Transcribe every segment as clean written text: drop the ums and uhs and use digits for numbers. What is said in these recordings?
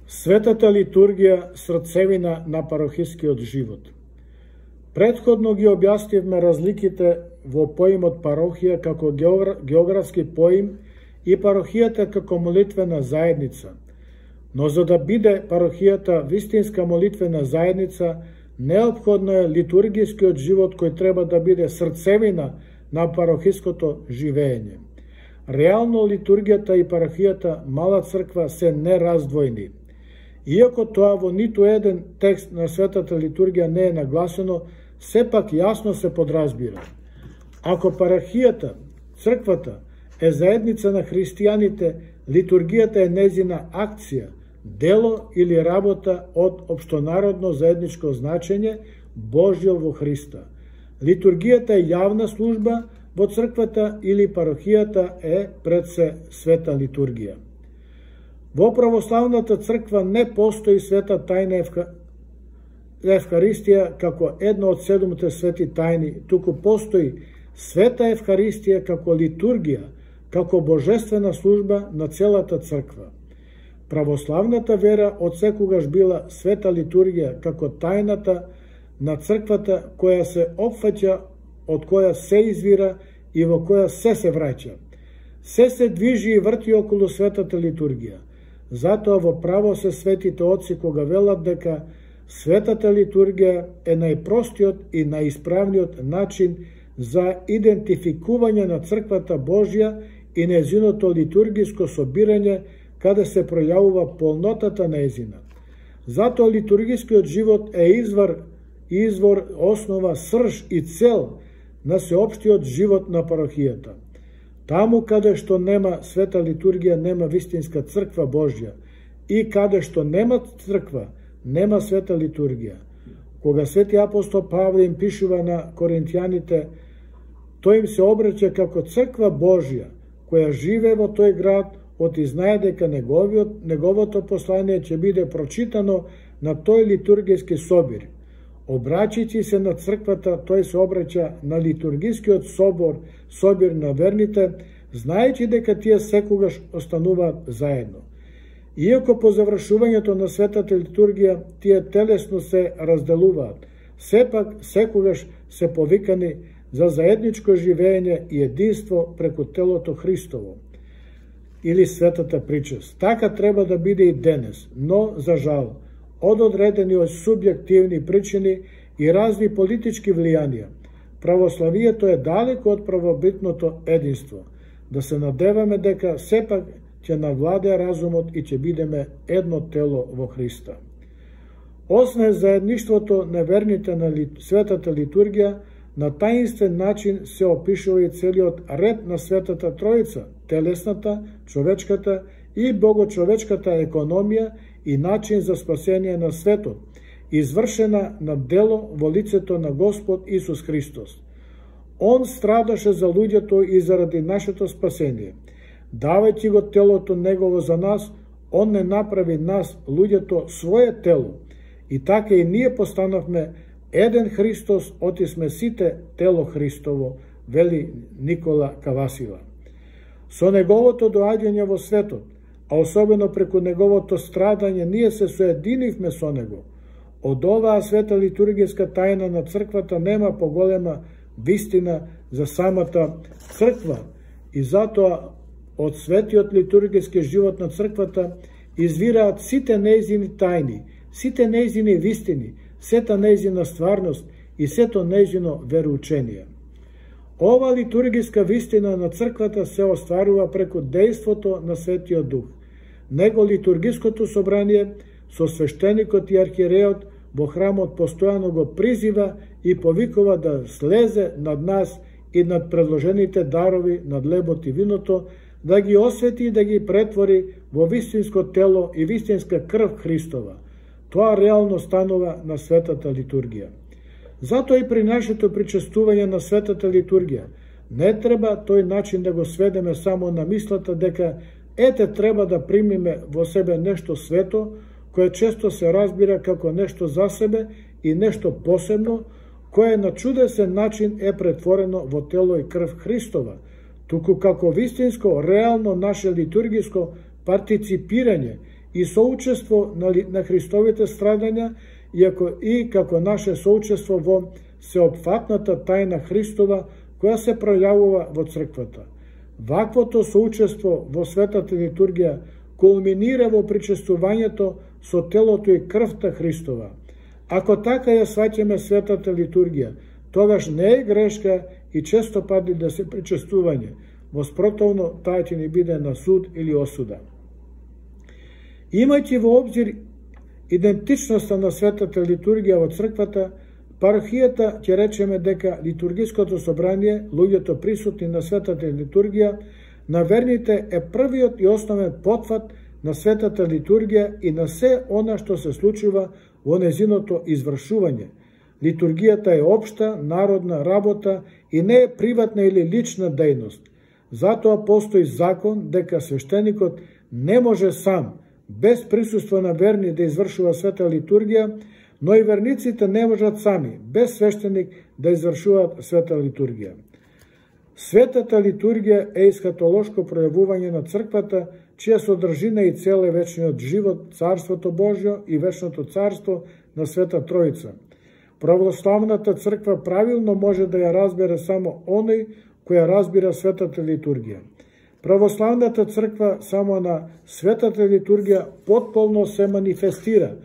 Светата литургија срцевина на парохискиот живот. Предходно ги објаснивме разликите во поимот парохија како географски поим и парохијата како молитвена заедница. Но за да биде парохијата вистинска молитвена заедница, неопходно е литургискиот живот кој треба да биде срцевина на парохиското живење. Реално литургијата и парохијата мала црква се нераздвојни. Иако тоа во ниту еден текст на светата литургија не е нагласено, сепак јасно се подразбира. Ако парохијата, црквата, е заедница на христијаните, литургијата е незина акција, дело или работа од општонародно заедничко значење, Божјо во Христа. Литургијата е јавна служба во црквата или парохијата е пред се света литургија. Во православната црква не постои света тајна Евхаристија како една од 7 свети тајни, туку постои света Евхаристија како литургија, како божествена служба на целата црква. Православната вера од секогаш била света литургија како тајната на црквата која се опфаќа, од која се извира и во која се враќа. Се движи и врти околу светата литургија. Затоа во право се светите отци кога велат дека светата литургија е најпростиот и најисправниот начин за идентификување на црквата Божја и нејзиното литургиско собирање каде се пројавува полнотата нејзина. Затоа литургискиот живот е извор, основа, срж и цел на сеопштиот живот на парохијата. Таму каде што нема света литургија, нема вистинска црква Божја, и каде што нема црква, нема света литургија. Кога свети апостол Павле им пишува на коринтијаните, тој им се обраќа како црква Божја, која живее во тој град, оти знае дека неговото послание ќе биде прочитано на тој литургиски собир. Обраќајќи се на црквата, тој се обраќа на литургискиот собир на верните, знаејќи дека тие секогаш остануваат заедно. Иако по завршувањето на светата литургија тие телесно се разделуваат, сепак секогаш се повикани за заедничко живење и единство преку телото Христово или светата причест. Така треба да биде и денес, но за жал, од одредени субјективни причини и разни политички влијанија, православието е далеко од правобитното единство. Да се надеваме дека сепак ќе навладее разумот и ќе бидеме едно тело во Христа. Освен заедништвото на верните на светата литургија, на таинствен начин се опишува и целиот ред на Светата Троица, телесната, човечката и богочовечката економија и начин за спасение на светот, извршена на дело во лицето на Господ Исус Христос. Он страдаше за луѓето и заради нашето спасение. Давајќи го телото Негово за нас, Он не направи нас, луѓето, свое тело. И така и ние постанавме еден Христос, оти сме сите тело Христово, вели Никола Кавасила. Со Неговото доаѓање во светот, а особено преку Неговото страдање, ние се соединивме со Него. Од оваа света литургиска тајна на црквата нема поголема вистина за самата црква и затоа од светиот литургиски живот на црквата извираат сите нејзини тајни, сите нејзини вистини, сета нејзина стварност и сето нејзино вероучение. Ова литургиска вистина на црквата се остварува преку дејството на Светиот Дух. Него литургиското собрание со свештеникот и архиереот во храмот постојано го призива и повикува да слезе над нас и над предложените дарови, над лебот и виното, да ги освети и да ги претвори во вистинско тело и вистинска крв Христова. Тоа реално станува на светата литургија. Затоа и при нашето причестување на светата литургија не треба тој начин да го сведеме само на мислата дека треба да примиме во себе нешто свето, кое често се разбира како нешто за себе и нешто посебно, кое на чудесен начин е претворено во тело и крв Христова, туку како вистинско, реално наше литургиско партиципирање и соучество на Христовите страдања, и како наше соучество во сеопфатната тајна Христова, која се пројавува во црквата. Ваквото соучество во светата литургија кулминира во причестувањето со телото и крвта Христова. Ако така ја сваќаме светата литургија, тогаш не е грешка и често пати да се причестување. Воспротивно, таа ќе ни биде на суд или осуда. Имајќи во обзир идентичноста на светата литургија во црквата, парохијата ќе речеме дека литургиското собрание, луѓето присутни на светата литургија, на верните е првиот и основен потфат на светата литургија и на се она што се случува во незиното извршување. Литургијата е општа, народна работа и не е приватна или лична дејност. Затоа постои закон дека свештеникот не може сам, без присуство на верни, да извршува света литургија, но и верниците не можат сами, без свештеник, да извршуваат света литургија. Светата литургија е есхатолошко пројавување на црквата, чија содржина и цел е вечниот живот, Царството Божјо и вечното царство на Света Троица. Православната црква правилно може да ја разбере само оној која разбира светата литургија. Православната црква само на светата литургија потполно се манифестира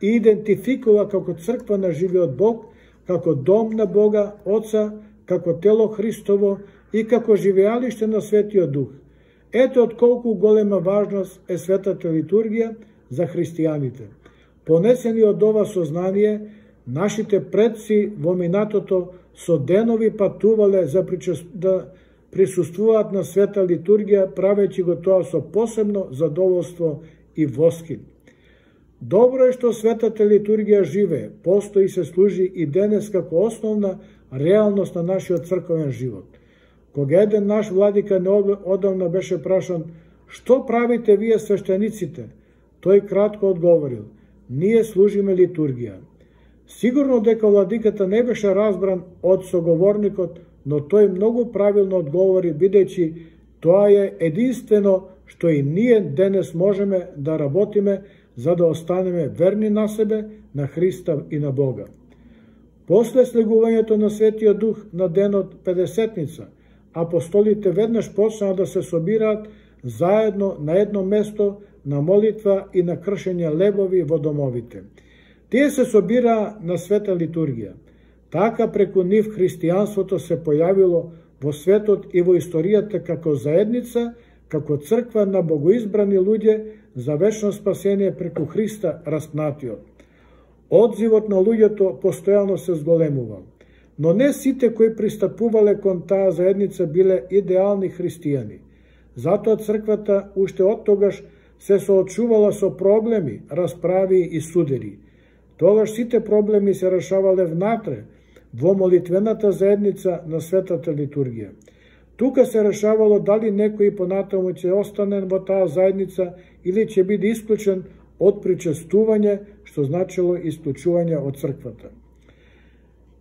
и идентификува како црква на живиот Бог, како дом на Бога, Отца, како тело Христово и како живеалиште на Светиот Дух. Ето од колку голема важност е светата литургија за христијаните. Понесени од ова сознание, нашите предци во минатото со денови патувале да присуствуваат на света литургија, правејќи го тоа со посебно задоволство и воскин. Добро е што светата литургија живее, постои и се служи и денес како основна реалност на нашиот црковен живот. Кога еден наш владика неодамна беше прашан: "Што правите вие свештениците?" Тој кратко одговорил: "Ние служиме литургија." Сигурно дека владиката не беше разбран од соговорникот, но тој многу правилно одговори, бидејќи тоа е единствено што и ние денес можеме да работиме за да останеме верни на себе, на Христа и на Бога. После слегувањето на Светиот Дух на денот Педесетница, апостолите веднаш почнаа да се собираат заедно на едно место на молитва и на кршење лебови во домовите. Тие се собираа на света литургија. Така преку нив христијанството се појавило во светот и во историјата како заедница, како црква на богоизбрани луѓе за вечно спасение преку Христа распнатиот. Одзивот на луѓето постојано се зголемувал, но не сите кои пристапувале кон таа заедница биле идеални христијани. Затоа црквата уште од тогаш се соочувала со проблеми, расправи и судери. Тогаш сите проблеми се решавале внатре, во молитвената заедница на светата литургија. Тука се решавало дали некој понатаму ќе остане во таа заедница или ќе биде исклучен од причестување, што значило исклучување од црквата.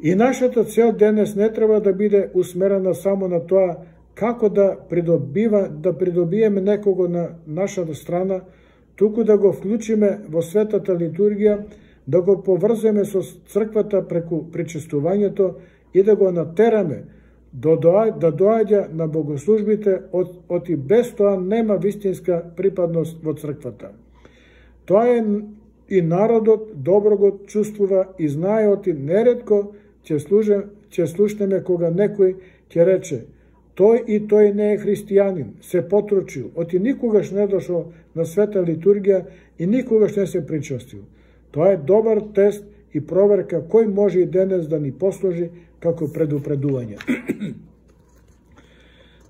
И нашата цел денес не треба да биде усмерена само на тоа како да придобиеме некого на нашата страна, туку да го вклучиме во светата литургија, да го поврземе со црквата преку причестувањето и да го натераме да доаѓа на богослужбите, оти без тоа нема вистинска припадност во црквата. Тоа е и народот добро го чувствува и знае, оти неретко ќе слушнеме кога некој ќе рече: "Тој и тој не е христијанин, се потручил, оти никогаш не дошол на света литургија и никогаш не се причастил." Тоа е добар тест и проверка кој може и денес да ни послужи како предупредување.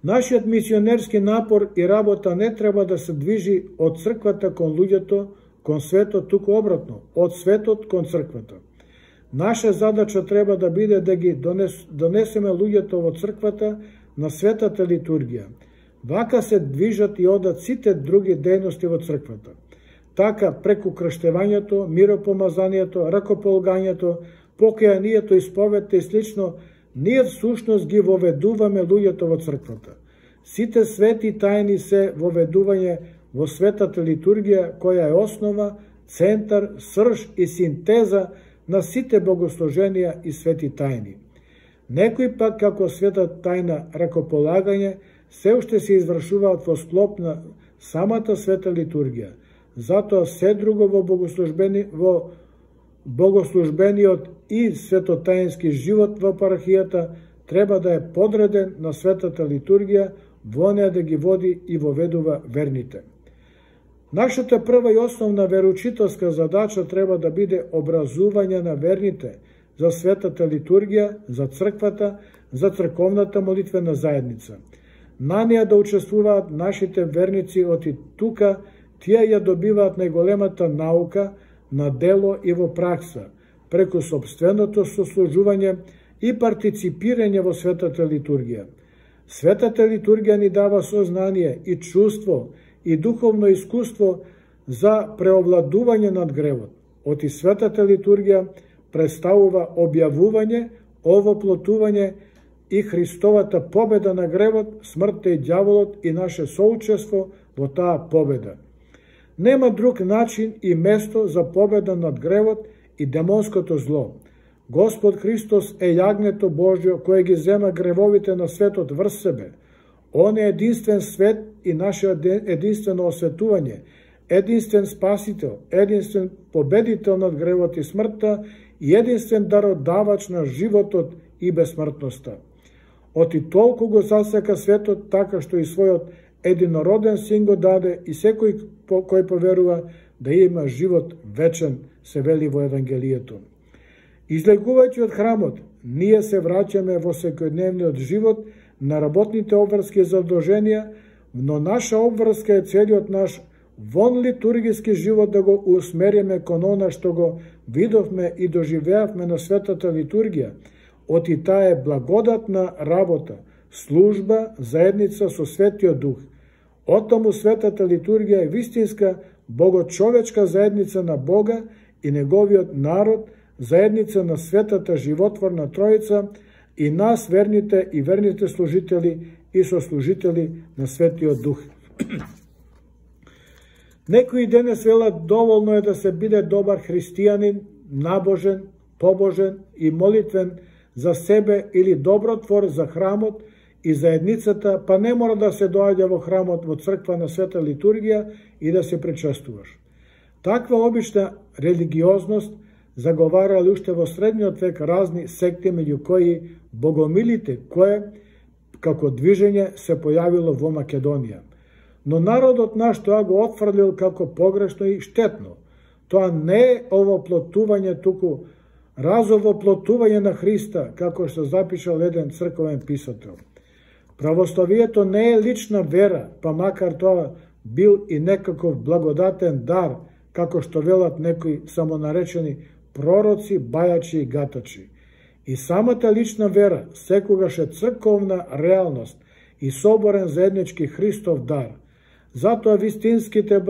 Нашиот мисионерски напор и работа не треба да се движи од црквата кон луѓето, кон светот, туку обратно, од светот кон црквата. Наша задача треба да биде да ги донесеме луѓето во црквата на светата литургија. Вака се движат и одат сите други дејности во црквата. Така, преку крштевањето, миропомазанието, ракополгањето, покајанието, исповедта и слично, ние всушност ги воведуваме луѓето во црквата. Сите свети тајни се воведување во светата литургија, која е основа, центар, срж и синтеза на сите богослуженија и свети тајни. Некои пак, како света тајна ракополагање, се уште се извршуваат во склоп на самата света литургија. Затоа се друго во богослужбениот и светотајнски живот во парахијата треба да е подреден на светата литургија, во неа да ги води и воведува верните. Нашата прва и основна вероучителска задача треба да биде образување на верните за светата литургија, за црквата, за црковната молитвена заедница. На неа да учествуваат нашите верници од и тука, тие ја добиваат најголемата наука на дело и во пракса, преку собственото сослужување и партиципирање во светата литургија. Светата литургија ни дава сознание и чувство и духовно искуство за преовладување над гревот. Од и светата литургија представува објавување, овоплотување и Христовата победа на гревот, смртта и ѓаволот и наше соучество во таа победа. Нема друг начин и место за победа над гревот и демонското зло. Господ Христос е јагнето Божјо кое ги зема гревовите на светот врз себе. Он е единствен свет и наше единствено осветување, единствен спасител, единствен победител над гревот и смртта и единствен дародавач на животот и бесмртноста. Од и толку го засека светот, така што и својот единороден син го даде и секој кој поверува да има живот вечен, се вели во Евангелието. Излегувајќи од храмот, ние се враќаме во секојдневниот живот на работните обврски задолженија, но наша обврска е целиот наш вон литургиски живот да го усмериме кон она што го видовме и доживеавме на светата литургија, од и таа е благодатна работа, служба, заедница со Светиот Дух. Оттаму светата литургија е вистинска богочовечка заедница на Бога и неговиот народ, заедница на светата животворна Троица и нас верните и верните служители и сослужители на Светиот Дух. Некои денес велат доволно е да се биде добар христијанин, набожен, побожен и молитвен за себе или добротвор за храмот и заедницата, па не мора да се доаѓа во храмот во црква на света литургија и да се причестуваш. Таква обична религиозност заговарали уште во средниот век разни секти, меѓу кои богомилите, кое како движење се појавило во Македонија. Но народот наш тоа го отфрлил како погрешно и штетно. Тоа не е овоплотување, туку разовоплотување на Христа, како што запишал еден црковен писател. Православието не е лична вера, па макар тоа бил и некаков благодатен дар, како што велат некои самонаречени пророци, бајачи и гатачи. И самата лична вера секогаш е црковна реалност и соборен заеднички Христов дар. Затоа вистинските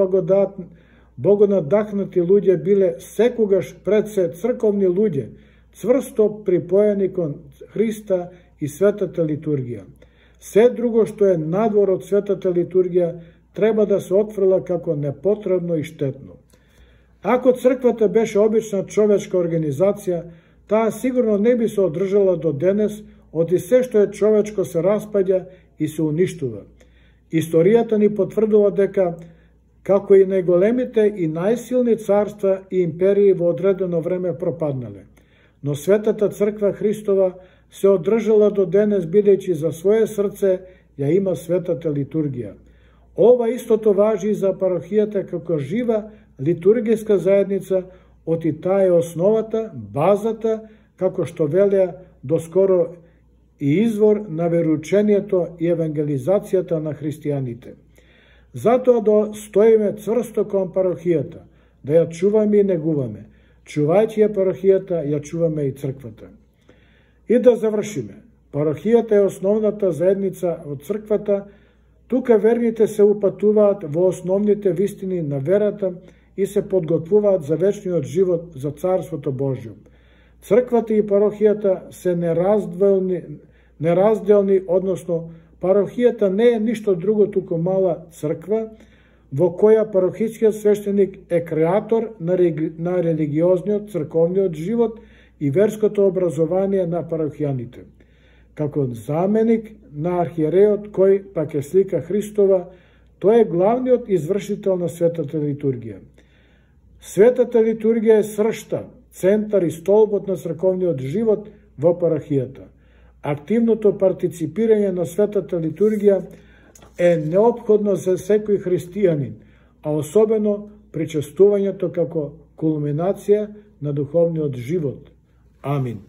богонадахнати луѓе биле секогаш пред се црковни луѓе, цврсто припоени кон Христа и светата литургија. Се друго што е надвор од светата литургија треба да се отфрла како непотребно и штетно. Ако црквата беше обична човечка организација, таа сигурно не би се одржала до денес, од и се што е човечко се распаѓа и се уништува. Историјата ни потврдува дека како и најголемите и најсилни царства и империи во одредено време пропаднале. Но светата црква Христова се одржала до денес, бидејќи за свое срце ја има светата литургија. Ова истото важи и за парохијата како жива литургиска заедница, од и таа е основата, базата, како што велеа доскоро и извор на вероучението и евангелизацијата на христијаните. Затоа да стоиме цврсто кон парохијата, да ја чуваме и негуваме. Чувајќи ја парохијата, ја чуваме и црквата. И да завршиме. Парохијата е основната заедница од црквата. Тука верните се упатуваат во основните вистини на верата и се подготвуваат за вечниот живот, за Царството Божјо. Црквата и парохијата се неразделни, односно парохијата не е ништо друго, туку мала црква, во која парохискиот свештеник е креатор на религиозниот, црковниот живот и верското образование на парохијаните. Како заменик на архиереот кој пак е слика Христова, тој е главниот извршител на светата литургија. Светата литургија е сршта, центар и столбот на црковниот живот во парохијата. Активното партиципирање на светата литургија е неопходно за секој христијанин, а особено причестувањето како кулминација на духовниот живот. Амин.